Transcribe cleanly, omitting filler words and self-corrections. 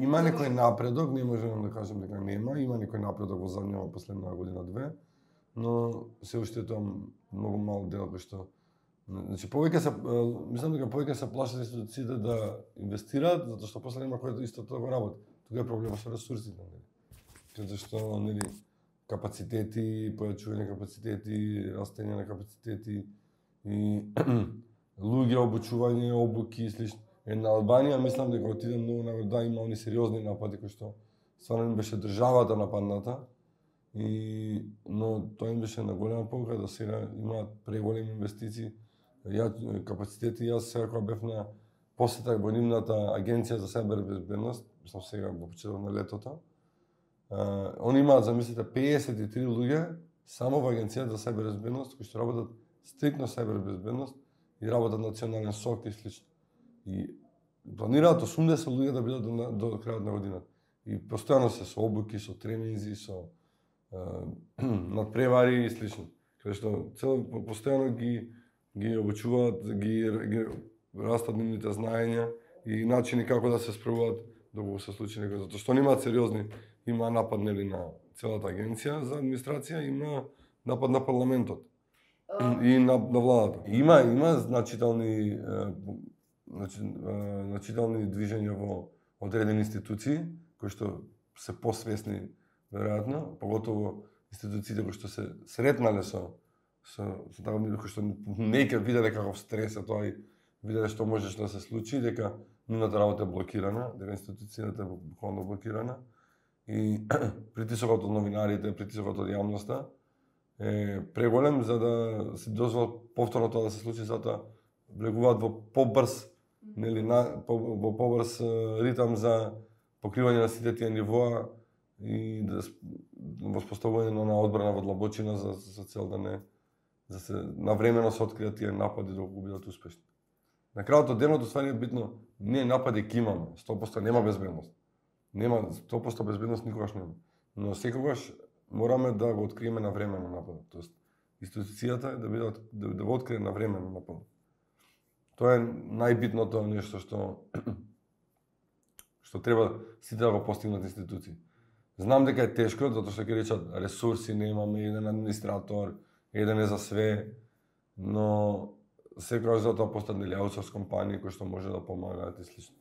Има некој напредок, не можам да кажам дека нема, има некој напредок во заднјава последна година-две, но се уште тоа многу мал дел кој што значи мислам дека повеќе се плашат институциите да инвестираат затоа што после нема кој исто тоа го работи. Тука е проблемот со ресурсите, нели? Затоа што нели капацитети, појачување капацитети, растење на капацитети и луѓе, обучување, обуки и слично. На Албанија мислам дека отиде многу нагоре, да, има они сериозни напади кои што стварно им беше државата нападната, но тоа им беше на голема полука да сега имаат преголеми инвестиции, капацитети. Јас сега кога бев на посета во нивната агенција за сајбербезбедност, мислам сега во почетокот на летото, они имаат, замислите, 53 луѓе само во агенцијата за сајбербезбедност кои што работат стрикно сајбербезбедност и работат национален СОК и слично. И планираат 80 луѓе да бидат до крајот на годината. И постојано се со обуки, со тренинзи, со надпревари и слично. Каде што постојано ги обучуваат, ги растат нивните знаења и начини како да се справуваат доколку се случи некој. Затоа што немаат сериозни, има напад нели на целата агенција за администрација, има напад на парламентот и на владата. Има значителни движења во одредени институции кои што се посвесни веројатно, поготово институциите кои што се сретнале со такви кои што неќе виделе каков стрес е тоа и виделе што можеше да се случи, дека нивната работа е блокирана, дека институцијата е буквално блокирана и притисокот од новинарите, притисокот од јавноста е преголем за да се дозволат повторно тоа да се случи, затоа влегуваат во побрз, нели, во побрз ритам за покривање на сите тие нивоа и воспоставување на одбрана во длабочина за цел да се навремено се откријат тие напади доколку бидат успешни. На крајот од денот ствари е битно, ние напади ќе имаме, 100% нема безбедност. Нема 100% безбедност никогаш нема. Но секогаш мораме да го откриеме навремено нападот. Тоест институцијата да го открие навремено нападот. Тоа е најбитното нешто што треба сите да го постигнат институции. Знам дека е тешко, затоа што ќе речат ресурси немаме, еден администратор, еден е за све, но секогаш за тоа постојат нели аутсорс компании кои што може да помагаат и слично.